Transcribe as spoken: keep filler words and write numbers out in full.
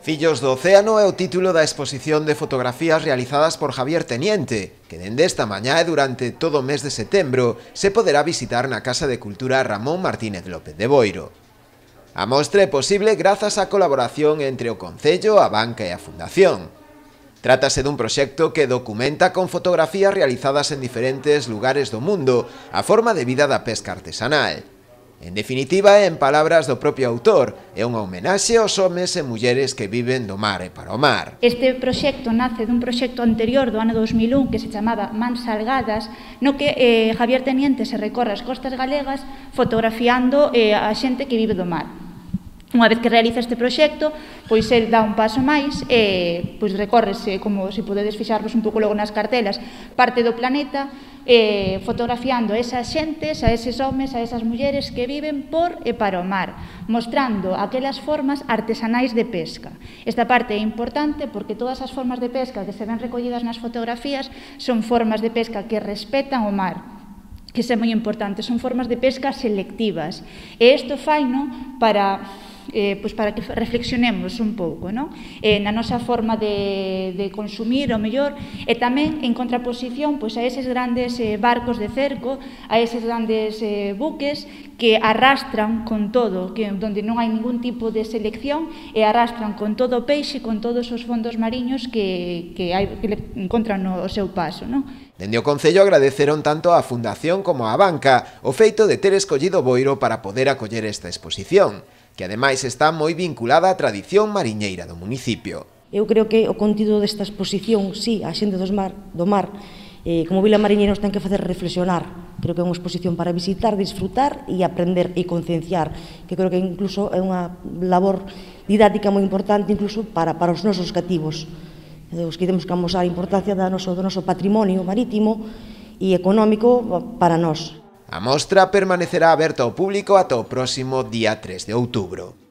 Fillos do Océano é o título da exposición de fotografías realizadas por Javier Teniente, que dende esta mañá e durante todo o mes de setembro se poderá visitar na Casa de Cultura Ramón Martínez López de Boiro. A mostra é posible grazas á colaboración entre o Concello, a Banca e a Fundación. Trátase dun proxecto que documenta con fotografías realizadas en diferentes lugares do mundo a forma de vida da pesca artesanal. En definitiva, en palabras do propio autor, é unha homenaxe aos homes e mulleres que viven do mar e para o mar. Este proxecto nace dun proxecto anterior do ano dos mil un que se chamaba Mans Salgadas, no que eh, Javier Teniente se recorre as costas galegas fotografiando eh, a xente que vive do mar. Unha vez que realiza este proxecto, pois el dá un paso máis e pois recórrese, como se podedes fixarvos un pouco logo nas cartelas, parte do planeta, eh, fotografiando a esas xentes, a eses homes, a esas mulleres que viven por e para o mar, mostrando aquelas formas artesanais de pesca. Esta parte é importante porque todas as formas de pesca que se ven recollidas nas fotografías son formas de pesca que respetan o mar, que é moi importante, son formas de pesca selectivas. E isto faino para... Eh, pois para que reflexionemos un pouco, non? Eh, na nosa forma de, de consumir o mellor e tamén en contraposición pois, a eses grandes eh, barcos de cerco, a eses grandes eh, buques que arrastran con todo, que onde non hai ningún tipo de selección e arrastran con todo o peixe, con todos os fondos mariños que, que, hai, que le encontran no o seu paso, non? Dende o Concello agradeceron tanto á Fundación como á Banca o feito de ter escollido Boiro para poder acoller esta exposición, que ademais está moi vinculada á tradición mariñeira do municipio. Eu creo que o contido desta exposición, sí, a xente dos mar, do mar, eh, como vila mariñeira nos ten que facer reflexionar. Creo que é unha exposición para visitar, disfrutar e aprender e concienciar, que creo que incluso é unha labor didáctica moi importante incluso para, para os nosos cativos. Os que temos que amosar a importancia do noso, do noso patrimonio marítimo e económico para nós. A mostra permanecerá aberta ao público ata o próximo día tres de outubro.